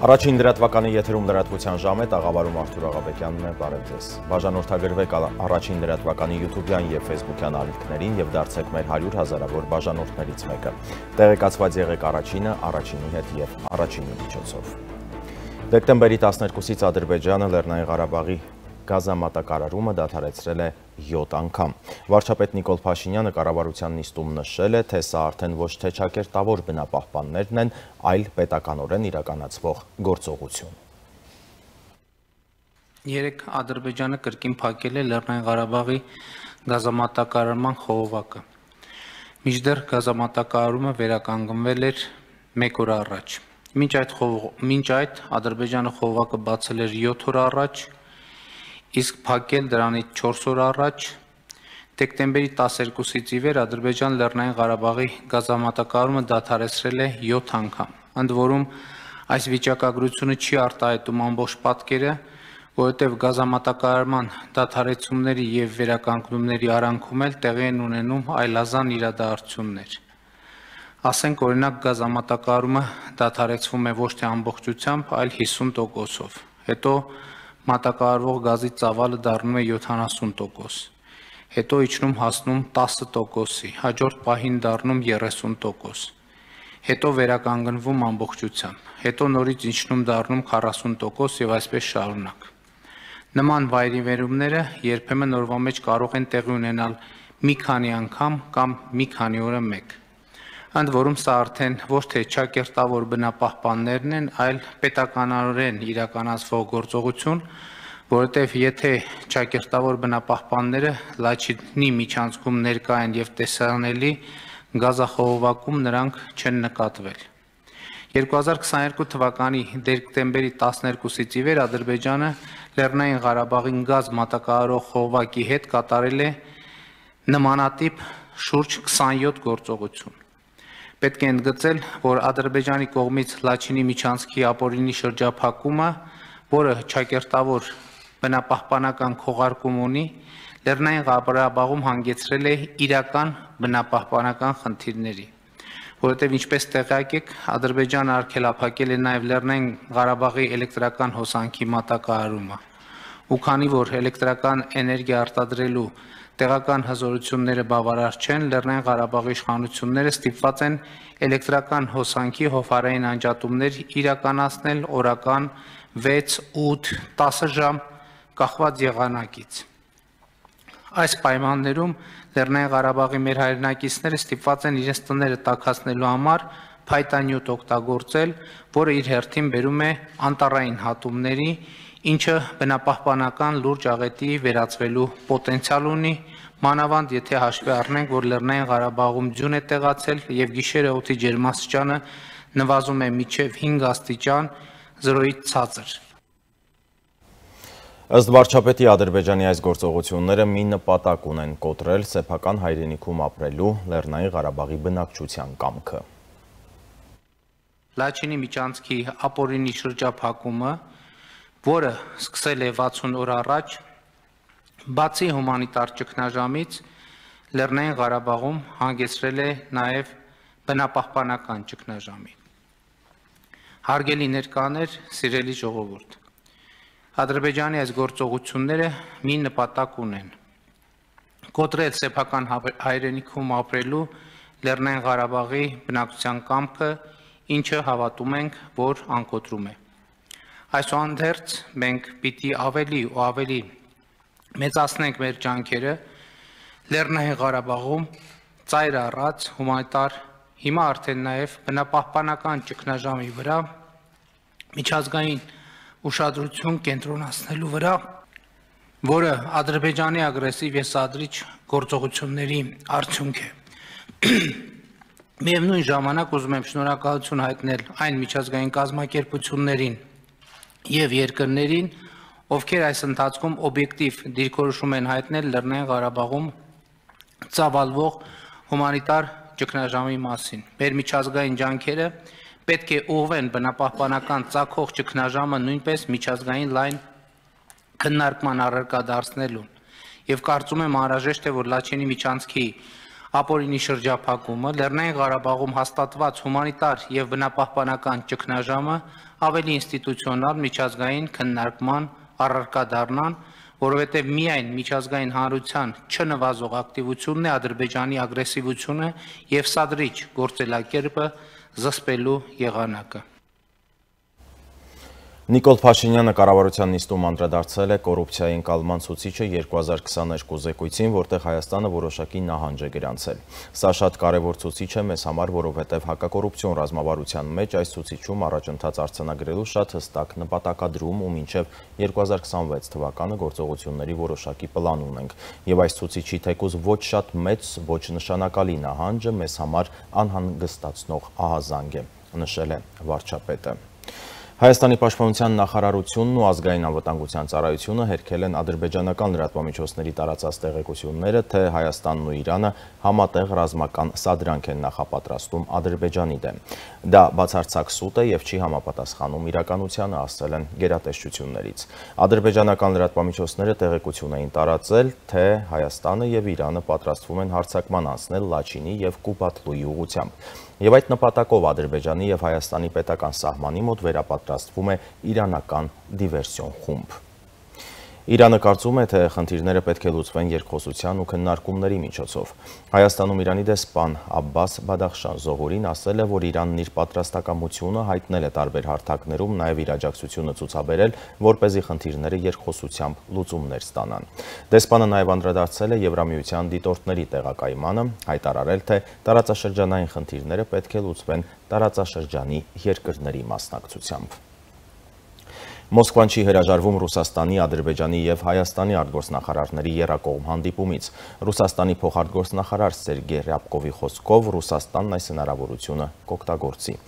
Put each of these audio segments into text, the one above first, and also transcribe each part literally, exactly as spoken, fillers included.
Առաջին լրատվականի եթերում լրատվության ժամ է, տաղավարում Արթուր Աղաբեկյանն է, բարև ձեզ։ Բաժանորդագրվեք առաջին լրատվականի յութուբյան և ֆեյսբուքյան ալիքներին և դարձեք մեր հարյուր հազարավոր բաժանորդներից մեկը։ Տեղեկացված եղեք առաջինը, առաջինի հետ և առաջինի միջոցով։ Դեկտեմբերի տասներկուսից Ադրբեջանը Լեռնային Ղարաբաղի գազամատակարարումը դադարեցրել է յոթ անգամ։ Վարչապետ Նիկոլ Փաշինյանը կառավարության նիստում նշել է, թե սա արդեն ոչ թե ճակերտավոր բնապահպաններն են, այլ պետականորեն իրականացվող գործողություն։ Երեկ Ադրբեջանը կրկին փակել է Լեռնային Ղարաբաղի գազամատակարարման խողովակը։ Մինչդեռ գազամատակարարումը վերականգնվել էր մեկ օր առաջ։ Մինչ այդ, մինչ այդ Ադրբեջանը խողովակը բացել էր յոթ օր առաջ, իսկ փակել դրանից չորս օր առաջ։ Դեկտեմբերի տասներկուսից ի վեր Ադրբեջան Լեռնային Ղարաբաղի գազամատակարարումը դադարեցրել է յոթ անգամ։ Ընդ որում այս վիճակագրությունը չի արտահայտում ամբողջ պատկերը, որովհետև գազամատակարարման դադարեցումների և վերականգնումների արանքում էլ տեղի են ունենում այլազան իրադարձություններ։ Ասենք օրինակ գազամատակարարումը դադարեցվում է ոչ թե ամբողջությամբ, այլ հիսուն տոկոսով։ Հետո մատակարարվող գազի ծավալը դառնում է յոթանասուն տոկոս, հետո իջնում հասնում տասը տոկոսի, հաջորդ պահին դառնում երեսուն տոկոս, հետո վերականգնվում ամբողջությամբ, հետո նորից իջնում դառնում քառասուն տոկոս և այսպես շարունակ։ Նման վայրիվերումները երբեմն օրվա մեջ կարող են տեղի ունենալ մի քանի անգամ կամ մի քանի օրը մեկ։ Ընդ որում սա արդեն ոչ թե ճակերտավոր բնապահպաններն են, այլ պետականորեն իրականացվող գործողություն, որովհետև եթե ճակերտավոր բնապահպանները Լաչինի միջանցքում ներկա են և տեսանելի, գազախողովակում նրանք չեն նկատվել։ երկու հազար քսաներկու թվականի դեկտեմբերի տասներկուսից ի վեր Ադրբեջանը Լեռնային Ղարաբաղին գազ մատակարարող խողովակի հետ կատարել է նմանատիպ շուրջ քսանյոթ գործողություն։ Պետք է ընդգծել, որ Ադրբեջանի կողմից Լաչինի միջանցքի ապօրինի շրջափակումը, որը ճակերտավոր բնապահպանական քողարկում ունի, Լեռնային Ղարաբաղում հանգեցրել է իրական բնապահպանական խնդիրների, որովհետև ինչպես տեղյակ եք, Ադրբեջանը արգելափակել է նաև Լեռնային Ղարաբաղի էլեկտրական հոսանքի մատակարարումը, ու քանի որ էլեկտրական էներգիա արտադրելու տեղական հզորությունները բավարար չեն, Լեռնային Ղարաբաղի իշխանությունները ստիպված են էլեկտրական հոսանքի հովհարային անջատումներ իրականացնել օրական վեց, ութ, տասը ժամ կախված եղանակից։ Այս պայմաններում Լեռնային Ղարաբաղի մեր հայրենակիցները ստիպված են իրենց տները տաքացնելու համար փայտանյութ օգտագործել, որը իր հերթին բերում է անտառային հատումների, ինչը բնապահպանական լուրջ աղետի վերածվելու պոտենցիալ ունի, մանավանդ եթե հաշվի առնենք, որ Լեռնային Ղարաբաղում ձյուն է տեղացել և գիշերը օդի ջերմաստիճանը նվազում է մինչև հինգ աստիճան, զրոյից ցածր։ Ըստ վարչապետի Ադրբեջանի այս գործողությունները մի նպատակ ունեն կոտրել սեփական հայրենիքում ապրելու Լեռնային Ղարաբաղի բնակչության կամքը։ Լաչինի միջանցքի ապօրինի շրջափակումը, որը սկսել է վաթսուն օր առաջ, բացի հումանիտար ճգնաժամից, Լեռնային Ղարաբաղում հանգեցրել է նաև բնապահպանական ճգնաժամի։ Հարգելի ներկաներ, սիրելի ժողովուրդ, Ադրբեջանի այս գործողությունները մի նպատակ ունեն՝ կոտրել սեփական հայրենիքում ապրելու Լեռնային Ղարաբաղի բնակչության կամքը, ինչը հավատում ենք, որ անկոտրում է։ Այսուհանդերձ մենք պիտի ավելի ու ավելի մեծացնենք մեր ջանքերը Լեռնային Ղարաբաղում ծայր առած հումանիտար, հիմա արդեն նաև բնապահպանական ճգնաժամի վրա միջազգային ուշադրություն կենտրոնացնելու վրա, որը Ադրբեջանի ագրեսիվ և սադրիչ գործողությունների արդյունք է։ Միևնույն ժամանակ ուզում եմ շնորհակալություն հայտնել այն միջազգային կազմակերպություններին և երկրներին, ովքեր այս ընթացքում օբյեկտիվ դիրքորոշում են հայտնել Լեռնային Ղարաբաղում ծավալվող հումանիտար ճգնաժամի մասին։ Մեր միջազգային ջանքերը պետք է ուղղվեն բնապահպանական ծագող ճգնաժամը նույնպես միջազգային լայն քննարկման առարկա դարձնելուն, և կարծում եմ անհրաժեշտ է, որ Լաչինի միջանցքի ապօրինի շրջափակումը, Լեռնային Ղարաբաղում հաստատված հումանիտար եւ բնապահպանական ճգնաժամը ավելի ինստիտուցիոնալ միջազգային քննարկման առարկա դառնան, որովհետեւ միայն միջազգային հանրության չնվազող ակտիվությունն է Ադրբեջանի ագրեսիվությունը եւ սադրիչ գործելակերպը զսպելու եղանակը։ Նիկոլ Փաշինյանը կառավարության նիստում անդրադարձել է կոռուպցիայի ընկալման ցուցիչը երկու հազար քսաներկու զեկույցին, որտեղ Հայաստանը որոշակի նահանջ է գրանցել։ Սա շատ կարևոր ցուցիչ է մեզ համար, որովհետև հակակոռուպցիոն ռազմավարության մեջ այս ցուցիչում առաջընթաց արձանագրելու շատ հստակ նպատակադրում ու մինչև երկու հազար քսանվեց թվականը գործողությունների որոշակի պլան ունենք։ Եվ այս ցուցիչի թեկուզ ոչ շատ մեծ, ոչ նշանակալի նահանջը մեզ համար անհանգստացնող ահազանգ է, նշել է վարչապետը։ Հայաստանի պաշտպանության նախարարությունն ու ազգային անվտանգության ծառայությունը հերքել են ադրբեջանական լրատվամիջոցների տարածած տեղեկությունները, թե Հայաստանն ու Իրանը համատեղ ռազմական սադրանք են նախապատրաստում Ադրբեջանի դեմ։ Դա բացարձակ սուտ է եւ չի համապատասխանում իրականությանը, ասել են գերատեսչություններից։ Ադրբեջանական լրատվամիջոցները տեղեկություն էին տարածել, թե Հայաստանը եւ Իրանը պատրաստվում են հարձակման անցնել Լաչինի եւ Կուբատլուի ուղղությամբ։ Եվ այդ նպատակով Ադրբեջանի եւ Հայաստանի պետական սահմանի մոտ վերապատրաստվում է իրանական դիվերսիոն խումբ։ Իրանը կարծում է, թե խնդիրները պետք է լուծվեն երկխոսության ու քննարկումների միջոցով։ Հայաստանում Իրանի դեսպան Աբբաս Բադախշան Զողուրին ասել է, որ Իրանն իր պատրաստակամությունը հայտնել է տարբեր հարթակներում, նաև իր աջակցությունը ցուցաբերել, որպեսզի խնդիրները երկխոսությամբ լուծումներ ստանան։ Դեսպանը նաև անդրադարձել է Եվրամիության դիտորդների տեղակայմանը, հայտարարել, թե տարածաշրջանային խնդիրները պետք է լուծվեն տարածաշրջանի երկրների մասնակցությամբ։ Մոսկվան չի հրաժարվում Ռուսաստանի, Ադրբեջանի եւ Հայաստանի արտգործնախարարների եռակողմ հանդիպումից։ Ռուսաստանի փոխարտգործնախարար Սերգեյ Ռյաբկովի խոսքով Ռուսաստանն այս հնարավորությունը կօգտագործի։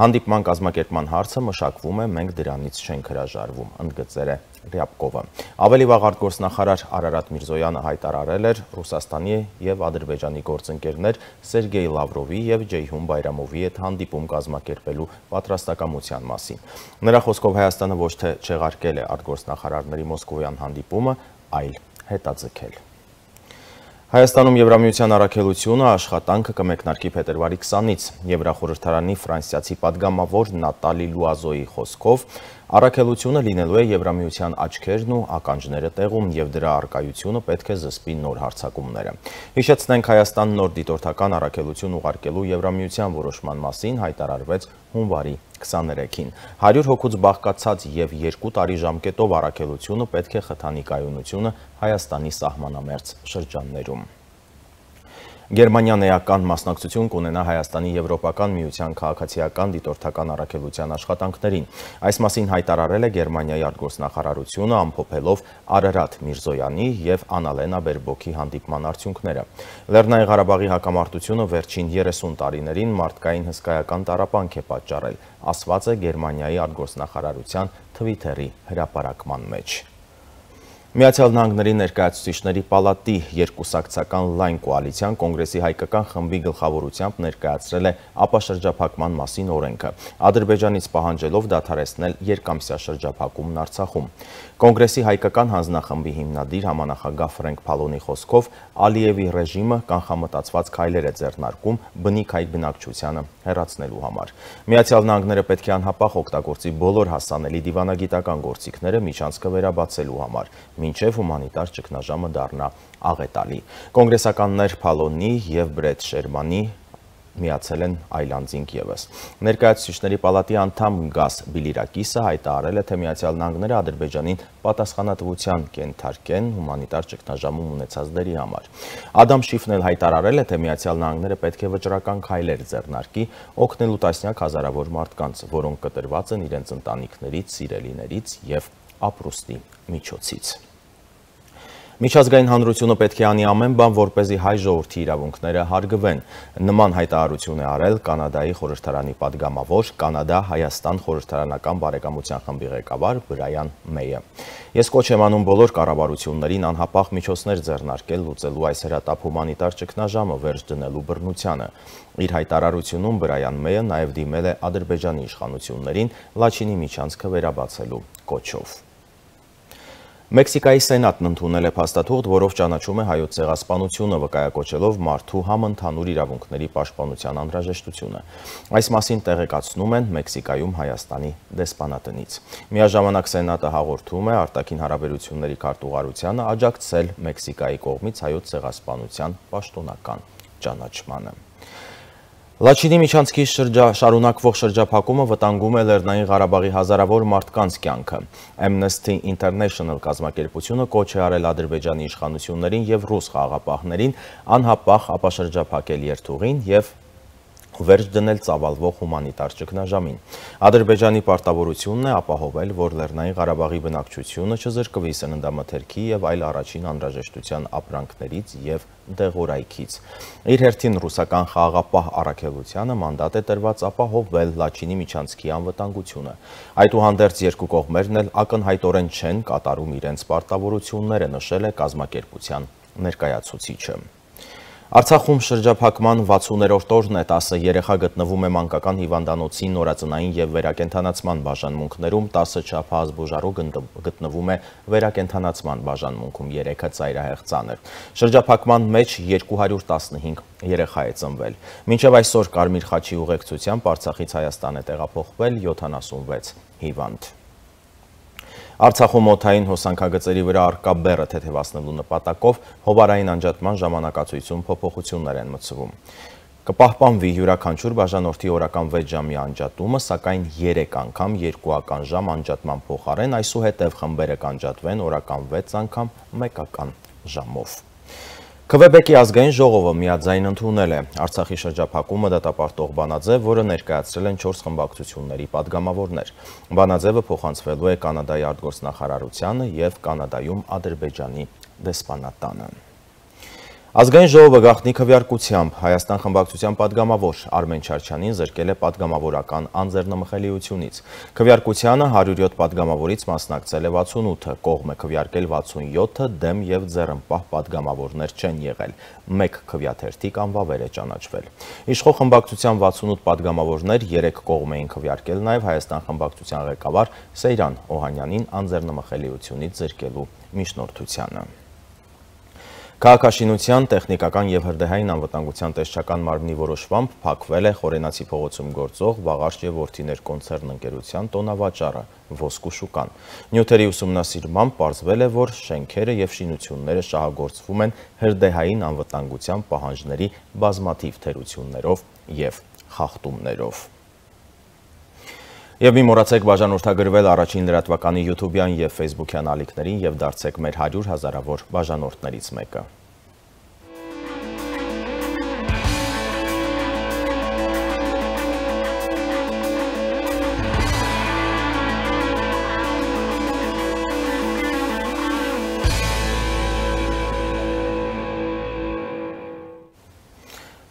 Հանդիպման կազմակերպման հարցը մշակվում է, մենք դրանից չենք հրաժարվում, ընդգծել է Ռյաբկովը։ Ավելի վաղ արտգործնախարար Արարատ Միրզոյանը հայտարարել էր Ռուսաստանի եւ Ադրբեջանի գործընկերներ Սերգեյ Լավրովի եւ Ջեյհուն Բայրամովի հետ հանդիպում կազմակերպելու պատրաստակամության մասին։ Նրա խոսքով Հայաստանը ոչ թե չեղարկել է արտգործնախարարների մոսկովյան հանդիպումը, այլ հետաձգել։ Հայաստանում Եվրամիության առաքելությունը աշխատանքը կմեկնարկի փետրվարի քսանից։ Եվրախորհրդարանի ֆրանսիացի падգամավոր Նատալի Լուազոյի խոսքով առաքելությունը լինելու է Եվրամիության աչքերն ու ականջները տեղում եւ դրա առկայությունը պետք է զսպի նոր հարձակումները։ Հիշեցնենք, Հայաստան նոր դիտորդական առաքելություն ուղարկելու Եվրամիության որոշման մասին հայտարարվեց հունվարի քսաներեքին։ հարյուր հոգուց բաղկացած եւ երկու տարի ժամկետով առաքելությունը պետք է խթանի կայունությունը Հայաստանի սահմանամերձ շրջաններում։ Գերմանիան էական մասնակցություն կունենա Հայաստանի Եվրոպական միության քաղաքացիական դիտորդական առաքելության աշխատանքներին։ Այս մասին հայտարարել է Գերմանիայի արտգործնախարարությունը, ամփոփելով Արարատ Միրզոյանի եւ Անալենա Բերբոքի հանդիպման արդյունքները։ Լեռնային Ղարաբաղի հակամարտությունը վերջին երեսուն տարիներին մարդկային հսկայական տառապանք է պատճառել, ասված է Գերմանիայի արտգործնախարարության Թվիթերի հրապարակման մեջ։ Միացյալ Նահանգների ներկայացուցիչների պալատի երկուսակցական լայն կոալիցիան կոնգրեսի հայկական խմբի գլխավորությամբ ներկայացրել է ապաշրջափակման մասին օրենքը, Ադրբեջանից պահանջելով դադարեցնել երկամսյա շրջափակումն Արցախում։ Կոնգրեսի հայկական հանձնախմբի հիմնադիր համանախագահ Ֆրենկ Փալոնի խոսքով Ալիևի ռեժիմը կանխամտածված քայլեր է ձեռնարկում բնիկ հայ բնակչությանը հեռացնելու համար։ Միացյալ Նահանգները պետք է անհապաղ օգտագործի բոլոր հասանելի դիվանագիտական գործիքները միջանցքը վերաբացելու համար, մինչև հումանիտար ճգնաժամը դառնա աղետալի։ Կոնգրեսականներ Փալոնի եւ Բրեդ Շերմանի միացել են այլանդզինք ևս։ Ներկայացուցիչների պալատի անդամ Գաս Բիլիրակիսը հայտարարել է, թե Միացյալ Նահանգները Ադրբեջանին պատասխանատվության կենթարկեն հումանիտար ճգնաժամում ունեցած դերի համար։ Ադամ Շիֆն էլ հայտարարել է, թե Միացյալ Նահանգները պետք է վճռական քայլեր ձեռնարկի օգնելու տասնյակ հազարավոր մարդկանց, որոնք կտրված են իրենց ընտանիքներից, սիրելիներից եւ ապրուստի միջոցից։ Միջազգային հանրությունը պետք է անի ամեն բան, որպեսզի հայ ժողովրդի իրավունքները հարգվեն։ Նման հայտարարություն է արել Կանադայի խորհրդարանի падգամավոր Կանադա-Հայաստան խորհրդարանական բարեկամության խմբի ղեկավար Բրայան Մեյը։ Ես կոչ եմ անում բոլոր կառավարություններին անհապաղ միջոցներ ձեռնարկել լուծելու այս հրատապ հումանիտար ճգնաժամը վերջ դնելու բռնությանը։ Իր հայտարարությունում Բրայան Մեյը նաև դիմել է Ադրբեջանի իշխանություններին Լաչինի միջանցքը վերաբացելու կոչով։ Մեքսիկայի Սենատն ընդունել է փաստաթուղթ, որով ճանաչում է հայոց ցեղասպանությունը, վկայակոչելով մարդու համընդհանուր իրավունքների պաշտպանության անհրաժեշտությունը։ Այս մասին տեղեկացնում են Մեքսիկայում Հայաստանի դեսպանատնից։ Միաժամանակ Սենատը հաղորդում է արտաքին հարաբերությունների քարտուղարությանը աջակցել Մեքսիկայի կողմից հայոց ցեղասպանության պաշտոնական ճանաչմանը։ Լաչինի միջանցքի շրջա, շարունակվող շրջափակումը վտանգում է Լեռնային Ղարաբաղի հազարավոր մարդկանց կյանքը։ Amnesty International կազմակերպությունը կոչ է արել Ադրբեջանի իշխանություններին և ռուս խաղաղապահներին անհապաղ ապաշրջափակել երթուղին և վերջ դնել ծավալվող հումանիտար ճգնաժամին։ Ադրբեջանի պարտավորությունն է ապահովել, որ Լեռնային Ղարաբաղի բնակչությունը չզրկվի սննդամթերքի և այլ առաջին անհրաժեշտության ապրանքներից և դեղորայքից։ Իր հերթին ռուսական խաղաղապահ առաքելությանը մանդատ է տրված ապահովել Լաչինի միջանցքի անվտանգությունը։ Այդուհանդերձ երկու կողմերն էլ ակնհայտորեն չեն կատարում իրենց պարտավորությունները, նշել է կազմակերպության ներկայացուցիչը։ Արցախում շրջափակման վաթսուներորդ օրն է, տասը երեխա գտնվում է մանկական հիվանդանոցի նորածնային և վերակենդանացման բաժանմունքներում, տասը չափահաս բուժարու գտնվում է վերակենդանացման բաժանմունքում, երեքը ծայրահեղ ծանր։ Շրջափակման մեջ երկու հարյուր տասնհինգ երեխա է ծնվել։ Մինչև այսօր Կարմիր խաչի ուղեկցությամբ Արցախից Հայաստան է տեղափոխվել յոթանասունվեց հիվանդ։ Արցախում օդային հոսանքագծերի վրա առկա բեռը թեթևացնելու նպատակով հովարային անջատման ժամանակացույցում փոփոխություններ են մտցվում։ Կպահպանվի յուրաքանչյուր բաժանորդի օրական վեց ժամի անջատումը, սակայն երեք անգամ երկուական ժամ անջատման փոխարեն այսուհետև խմբերը կանջատվեն օրական վեց անգամ մեկական ժամով։ Քվեբեկի ազգային ժողովը միաձայն ընդունել է Արցախի շրջափակումը դատապարտող բանաձև, որը ներկայացրել են չորս խմբակցությունների падգամավորներ։ Բանաձևը փոխանցվելու է Կանադայի արտգործնախարարությանը և Կանադայում Ադրբեջանի դեսպանատանը։ Ազգային ժողովը գաղտնի քվեարկությամբ Հայաստան խմբակցության падգամավոր Արմեն Չարչյանին զրկել է падգամավորական անձեռնմխելիությունից։ Քվեարկությանը հարյուր յոթ падգամավորից մասնակցել է վաթսունութը, կողմ է քվեարկել վաթսունյոթը, դեմ և ձեռնպահ падգամավորներ չեն եղել։ Մեկ քվեաթերթիկ անվավեր է ճանաչվել։ Իշխող խմբակցության վաթսունութ падգամավորներ երեք կողմ էին քվեարկել նաև Հայաստան խմբակցության ղեկավար Սեյրան Օհանյանին անձեռնմխելիությունից զրկելու միջնորդությանը։ Քաղաքաշինության, տեխնիկական և հրդեհային անվտանգության տեսչական մարմնի որոշմամբ փակվել է Խորենացի փողոցում գործող Վաղարշ և Որդիներ կոնցեռն ընկերության տոնավաճառը Ոսկու շուկան։ Նյութերի ուսումնասիրմամբ պարզվել է, որ շենքերը և շինությունները շահագործվում են հրդեհային անվտանգության պահանջների բազմաթիվ թերություններով և խախտումներով։ Եվ մի մոռացեք բաժանորդագրվել առաջին լրատվականի յութուբյան և ֆեյսբուքյան ալիքներին և դարձեք մեր հարյուր հազարավոր բաժանորդներից մեկը։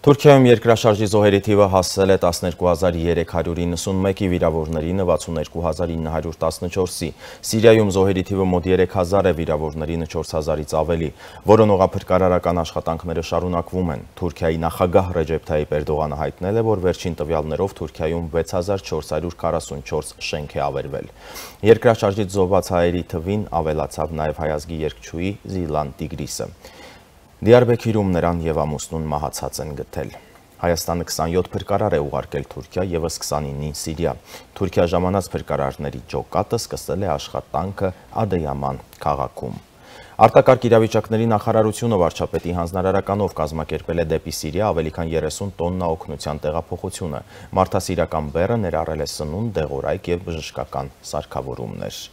Թուրքիայում երկրաշարժի զոհերի թիվը հասել է տասներկու հազար երեք հարյուր իննսունմեկի, վիրավորներին վաթսուններկու հազար ինը հարյուր տասնչորսի։ Սիրիայում զոհերի թիվը մոտ երեք հազար է, վիրավորներին չորս հազարից ավելի։ Որոնողափրկարարական աշխատանքները շարունակվում են։ Թուրքիայի նախագահ Ռեջեփ Թայիպ Էրդողանը հայտնել է, որ վերջին տվյալներով Թուրքիայում վեց հազար չորս հարյուր քառասունչորս շենք է ավերվել։ Երկրաշարժից զոհված հայերի թվին ավելացավ նաև հայ ազգի երգչուհի Զիլան Տիգրիսը։ Դիարբեքիրում նրան և ամուսնուն մահացած են գտել։ Հայաստանը քսանյոթ փրկարար է ուղարկել Թուրքիա, ևս քսանինին Սիրիա։ Թուրքիա ժամանած փրկարարների ջոկատը սկսել է աշխատանքը Ադեյաման քաղաքում։ Արտակարգ իրավիճակների նախարարությունը վարչապետի հանձնարարականով կազմակերպել է դեպի Սիրիա ավելի քան երեսուն տոննա օգնության տեղափոխությունը։ Մարդասիրական բեռը ներառել է սնունդ, դեղորայք և բժշկական սարքավորումներ։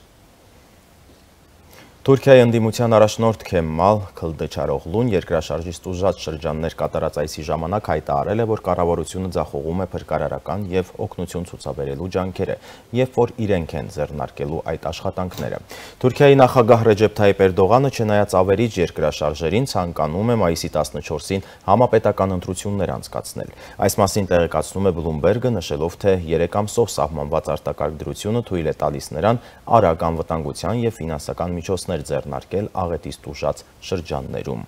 Թուրքիայի ընդդիմության առաջնորդ Քեմալ Քլդչարօղլուն երկրաշարժից տուժած շրջաններ կատարած այցի ժամանակ հայտարարել է, որ կառավարությունը ձախողում է փրկարարական և օգնություն ցուցաբերելու ջանքերը, երբ որ իրենք են ձեռնարկելու այդ աշխատանքները։ Թուրքիայի նախագահ Ռեջեփ Թայիպ Էրդողանը, չնայած ավերիչ երկրաշարժերին, ցանկանում է մայիսի տասնչորսին համապետական ընտրություններ անցկացնել։ Այս մասին տեղեկացնում է Բլումբերգը, նշելով, թե երեք ամսով սահմանված արտակարգ դրությունը թույլ է տալիս նրան արագ անվտանգության և ֆինանսական միջոցներ ձեռնարկել աղետից տուժած շրջաններում։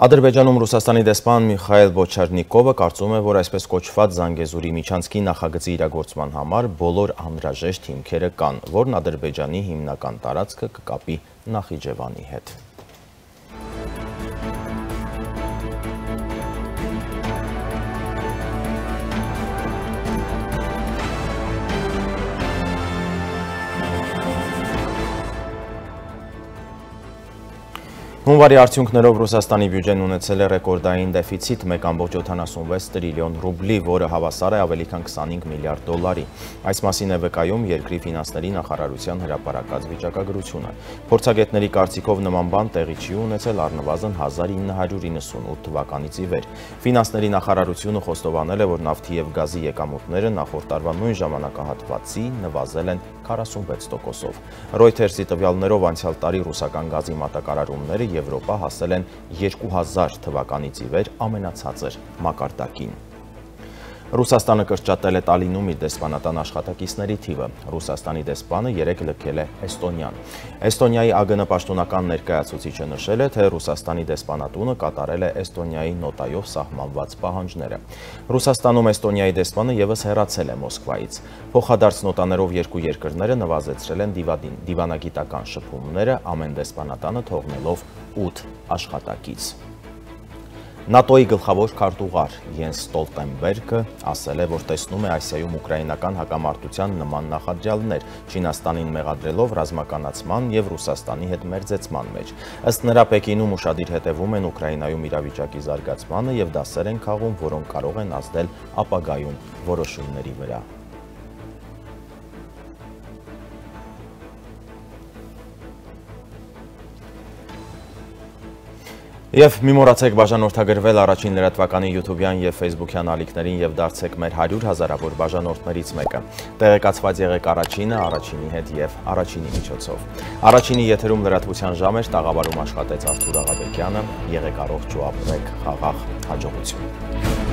Ադրբեջանում Ռուսաստանի դեսպան Միխայել Բոչարնիկովը կարծում է, որ այսպես կոչված Զանգեզուրի միջանցքի նախագծի իրագործման համար բոլոր անհրաժեշտ հիմքերը կան, որն Ադրբեջանի հիմնական տարածքը կկապի Նախիջևանի հետ։ Հունվարի արդյունքներով Ռուսաստանի բյուջեն ունեցել է ռեկորդային դեֆիցիտ մեկ կόμma յոթանասունվեց տրիլիոն ռուբլի, որը հավասար է ավելի քան քսանհինգ միլիարդ դոլարի։ Այս մասին է վկայում երկրի ֆինանսների նախարարության հրապարակած վիճակագրությունը։ Փորձագետների կարծիքով նման բան տեղի չի ունեցել առնվազն հազար ինը հարյուր իննսունութ թվականից ի վեր։ Ֆինանսների նախարարությունը խոստովանել է, որ նավթի և գազի եկամուտները նախորդ տարվա նույն ժամանակահատվածի նվազել են քառասունվեց տոկոսով։ Reuters-ի տվյալներով անցյալ տարի ռուսական գազի մատակարարումները Եվրոպա հասել են երկու հազար թվականից ի վեր ամենացածր մակարդակին։ Ռուսաստանը կրճատել է Տալինում իր դեսպանատան աշխատակիցների թիվը։ Ռուսաստանի դեսպանը երեկ լքել է Էստոնիան։ Էստոնիայի ԱԳՆ պաշտոնական ներկայացուցիչը նշել է, թե Ռուսաստանի դեսպանատունը կատարել է Էստոնիայի նոտայով սահմանված պահանջները։ Ռուսաստանում Էստոնիայի դեսպանը ևս հեռացել է Մոսկվայից։ Փոխադարձ նոտաներով երկու երկրները նվազեցրել են դիվանագիտական շփումները, ամեն դեսպանատանը թողնելով ութ աշխատակից։ ՆԱՏՕ-ի գլխավոր քարտուղար Յենս Ստոլտենբերգը ասել է, որ տեսնում է Ասիայում ուկրաինական հակամարտության նման նախադրյալներ, Չինաստանին մեղադրելով ռազմականացման և Ռուսաստանի հետ մերձեցման մեջ։ Ըստ նրա, Պեկինում ուշադիր հետևում են Ուկրաինայում իրավիճակի զարգացմանը և դասեր են քաղում, որոնք կարող են ազդել ապագայում որոշումների վրա։ Եվ մի մոռացեք բաժանորդագրվել առաջին լրատվականի յութուբյան և ֆեյսբուքյան ալիքներին և դարձեք մեր հարյուր հազարավոր բաժանորդներից մեկը։ Տեղեկացված եղեք առաջինը, առաջինի հետ և առաջինի միջոցով։ Առաջինի եթերում լրատվության ժամ էր, տաղավարում աշխատեց Արթուր Աղաբեկյանը, եղեք առողջ ու ապրեք խաղաղ, հաջողություն։